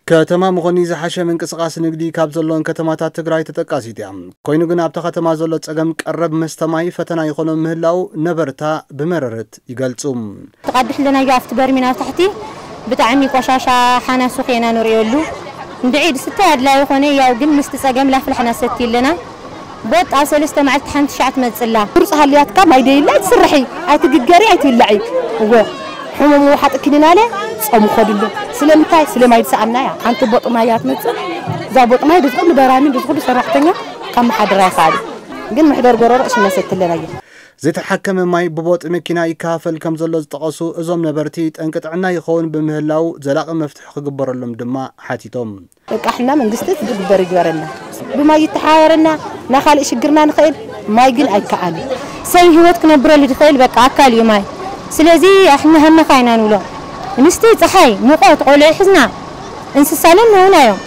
ከተማ መኾኒ ዝሓሸ ምንቅስቓስ ንግዲ ካብ ዘለዎን ከተማታት ትግራይ ተጠቃሲት እያ። ኮይኑ ግን ኣብታ ከተማ ዘሎ ጸገም ቀረብ መስተ ማይ ፈተና ይኾኖም ምህላው ነበርታ ብመረረት ይገልጹ። ተቓድሕ ኣለናዮ ኣብቲ በርሚን ኣብ ታሕቲ ብጣዕሚ ቆሻሻ ሓናሱ ኸይና ንርእየሉ። እንድዒ ድስታይ ኣድላይ ይኾነ ያው ግን ምስቲ ጸገም ላፍላሕና ሰቲ ኣለና። ቦጥ ኣብ ሰለስተ መዓልቲ ሓንቲ ሻዕ ትመጽላ። ቁርጽ ሃልያትካ ማይ ደይላ ትስርሒ ኣይትግገሪ ኣይትብላዒ። እወ ሕሙም ውሓጥ ክኒናለ ጾም ኸድሉ። ስለምንታይ? ስለማይ ዝሰኣና እያ። ሓንቲ ቦጥ ማይ እያ ትመጽእ። እዛ ቦጥ ማይ ድዚ ኩሉ በራሚን ድዚ ኩሉ ሰራሕተኛ ካብ መሓድራ ይኸኣል። ግን መሕደር ጎረሮ እሽነሰት ኣለናዮ። ዝተሓከመ ማይ ብቦጥ መኪና ይከፋፈል ከም ዘሎ ዝጠቐሱ እዞም ነበርቲ፣ ጠንቂ ጥዕና ይኸውን ብምህላው ዘላቒ መፍትሒ ክግበረሎም ድማ ሓቲቶም። በቃ ሕና መንግስቲ ዝግበር ይግበረና። ብማይ ይተሓባበረና፣ ናኻልእ ሽግርና ንኽእል፣ ማይ ግን ኣይከኣል። ሰብ ህይወት ክነብረሉ ዝኽእል በቃ ኣካል እዩ ማይ። ስለዚ ኣሕና ሃመኻ ኢና ንብሎ። እንስቲ ፀሓይ፣ ሙቐት፣ ቆልዑ ሒዝና፣ እንስሳ ለና እውን እዮም።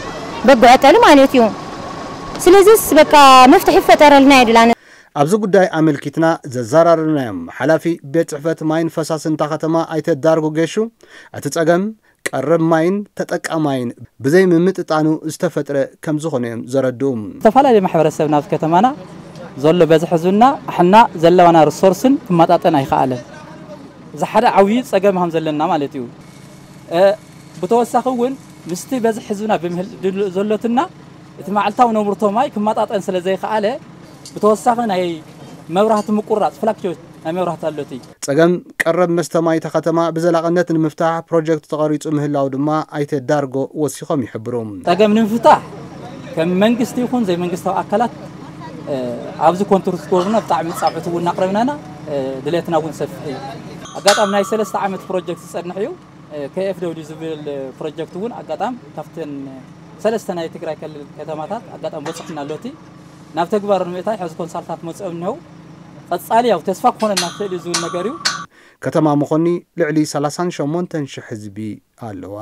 በግዖ ጠሊ ማለት እዩ። ስለዚስ በቃ መፍትሒ ይፈጠረልና ይድላነ። ኣብዚ ጉዳይ ኣመልኪትና ዘዘራረብናዮም ሓላፊ ቤት ጽሕፈት ማይን ፈሳስን እታ ከተማ ኣይተ ዳርጎ ጌሹ፣ እቲ ጸገም ቀረብ ማይን ተጠቃማይን ብዘይ ምምጥጣኑ ዝተፈጥረ ከም ዝኾነ እዮም ዘረድኡ። ዝተፈላለዩ ማሕበረሰብ ናብዚ ከተማና ዘሎ በዝሒ ህዝብና ኣሕና ዘለዋና ሪሶርስን ክመጣጠን ኣይኸኣለን። እዚ ሓደ ዓብዪ ጸገም ከም ዘለና ማለት እዩ። እ፣ ብተወሳኺ እውን ምስቲ በዝሒ ህዝብና ብምህል-፣ ድል-፣ ዘሎትና እቲ መዓልታዊ ነብርቶ ማይ ክመጣጠን ስለ ዘይከኣለ ብተወሳኺ ናይ መብራህቲ ምቁራፅ ፍላክቹዌት ናይ መብራህቲ ኣሎቲ። ጸገም ቀረብ መስተ ማይ እታ ከተማ ብዘላቕነት ንምፍታሕ ፕሮጀክት ተቐሪጹ ምህላው ድማ ኣይተ ዳርጎ ወሲኾም ይሕብሩ። ጸገም ንምፍታሕ ከም መንግስቲ ይኹን ዘይመንግስታዊ ኣካላት፣ እ፣ ኣብዚ ኮንትሪት ክገብሩና ብጣዕሚ ጻውዒት እውን እናቕረብና ኢና። እ፣ ድሌትና እውን ሰፊሕ እዩ። ኣጋጣሚ ናይ ሰለስተ ዓመት ፕሮጀክት ዝጸንሕ እዩ። እ፣ ኬ ኤፍ ደብሊው ዝብል ፕሮጀክት እውን ኣጋጣሚ ካብተን ሰለስተ ናይ ትግራይ ክልል ከተማታት ኣጋጣሚ በፂሑና ኣሎ። እቲ ናብ ተግባር ንምእታይ ሕዚ ኮንሳልታት መፅኦም እኒሀው። ቀፃሊ ያው ተስፋ ክኾነና ክኽእል እዩ ዝብል ነገር እዩ። ከተማ መኾኒ ልዕሊ ሰላሳን ሸሞንተን ሽሕ ህዝቢ ኣለዋ።